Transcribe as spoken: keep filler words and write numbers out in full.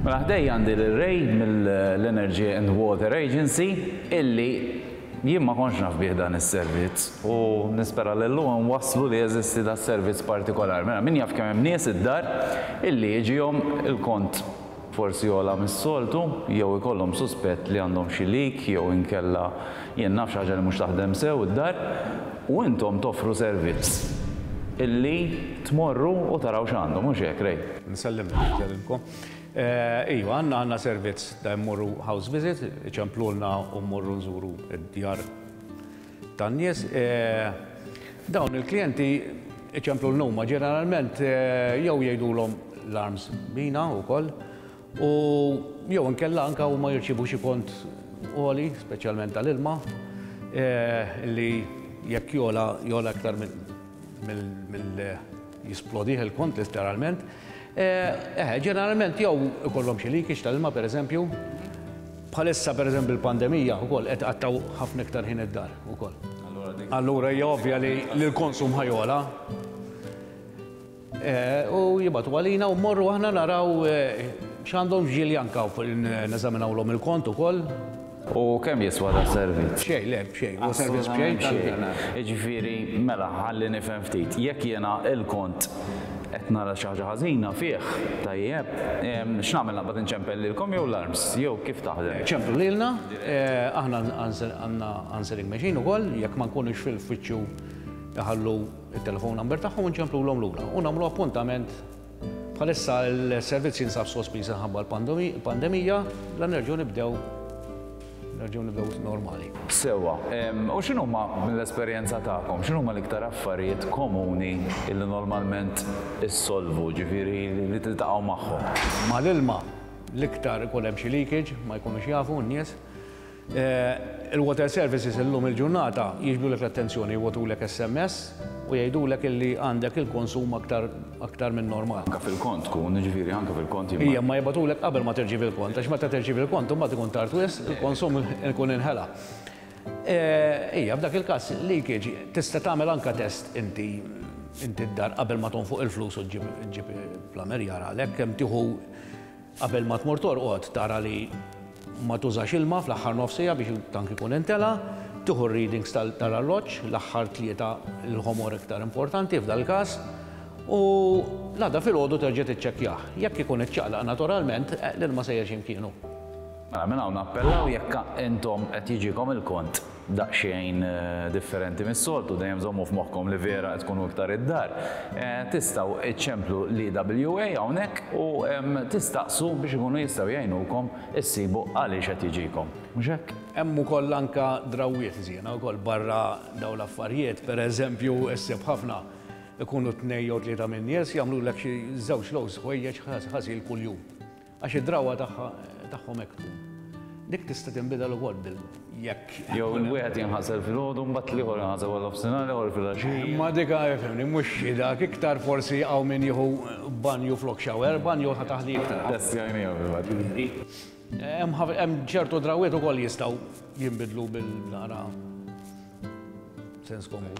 Mela ħdejja għandi l-Ray mill-Energy and Water Agency illi jien ma kontx naf bih dan is-servizz u nispera li llum waslu li jeżisti da servizz partikolari. Mela min jaf kemm hemm nies id-dar illi jiġihom il-kont forsi ogħla mis-soltu jew ikollhom suspett li għandhom xi leak jew inkella jien naf xi ħaġa li mhux taħdem sew id-dar u intom toffru servizz illi tmorru u taraw x'għandhom, mhux hekk, Ray? Nsellim, nsellimkom. Iva, għandna għandna servizz ta' mmorru house visit, ċemplulna u mmorru nżuru id-djar tan-nies. Dawn il-klijenti iċemplulna huma ġeneralment jew jgħidulhom l-arms bina wkoll u jew inkella anka huma jirċievu xi kont għoli, speċjalment tal-ilma, li jekk jogħla jogħla aktar mill jisplodih il-kont letteralment. Eh, ġeneralment jew ikollhom xi leakage tal-ilma pereżempju. Bħalissa pereżempju il-pandemija wkoll qed qattaw ħafna iktar ħin id-dar ukoll. Allura hija ovvja li l-konsum ħa jogħla. U jibagħtu għalina u mmorru aħna naraw x'għandhom ġieli anka neżaminawlhom il-kont ukoll. U kemm jiswa da servizz? Xejn, le, b'xejn. U servizz b'xejn. Jiġifieri, mela, ħalli nifhem ftit. Jekk jiena il-kont qed nara xi ħaġa ħażina fih, tajjeb, x'nagħmel, naqbad inċempel lilkom jew l-arms, jew kif taħdem? Ċemplu lilna, aħna għandna answering machine ukoll, jekk ma nkunux fil-uffiċċju jħallu il-telefon number tagħhom u nċemplulhom lura. U nagħmlu appuntament. Bħalissa l-servizz jinsab sospiż ħabba l-pandemija, la nerġgħu nibdew nerġgħu nibdew normali. Sewwa, u x'inhuma mill-esperjenza tagħkom, x'inhuma l-iktar affarijiet komuni illi normalment issolvu, ġifieri li tiltaqgħu magħhom? Mal-ilma l-iktar ikun hemm xi leakage, ma jkunux jafu n-nies. Il-water services illum il-ġurnata jiġbdulek l-attenzjoni, jibagħtulek S M S u jgħidulek illi għandek il-konsum aktar aktar minn normal. Anka fil-kont tkun, ġifieri anka fil-kont. Ija, ma jibagħtulek qabel ma tirċievi il-kont, għax meta tirċievi il-kont imbagħad ikun tard wisq, il-konsum ikun inħela. Ija, f'dak il-każ leakage tista' tagħmel anka test inti inti d-dar qabel ma tonfoq il-flus u ġġib plumber jara għalhekk kemm tieħu qabel ma tmur torqod, tara li ma tużax ilma fl-aħħar nofsija biex tank ikun intela, tieħu readings tal-arloġġ, l-aħħar tlieta l-ħomor iktar importanti f'dal-każ, u l-għada filgħodu terġa' tiċċekkjah. Jekk ikun iċċaqlaq naturalment, l-ilma sejjer x'imkienu. Mela minn hawn nappellaw, jekk intom qed jiġikom il-kont daqsxejn differenti mis-soltu, dejjem żommu f'moħħkom li vera qed tkunu iktar id-dar. Tistgħu iċċemplu l-E W A hawnhekk u tistaqsu biex ikunu jistgħu jgħinukom issibu għaliex qed jiġikom. Mhux hekk? Hemm ukoll anka drawwiet żiena wkoll barra dawn l-affarijiet, pereżempju issib ħafna ikunu tnejn jew tlieta minn nies jagħmlulek xi żewġ loads ħwejjeġ ħasil kuljum. Għax id-drawwa tagħhom hekk tkun. Dik tista' tinbidel ukoll bil jekk. Jew il-wieħed jinħasel filgħodu, mbagħad l-ieħor jinħasel wara nofsinhar, l-ieħor filgħaxija. Ma dik fhimni, mhux dak, iktar forsi hawn min jieħu banju flok shower, banju ħa taħli iktar. Testjajnija fil-fatt. Hemm ċertu drawwiet ukoll jistgħu jinbidlu bil-naqra sens komun.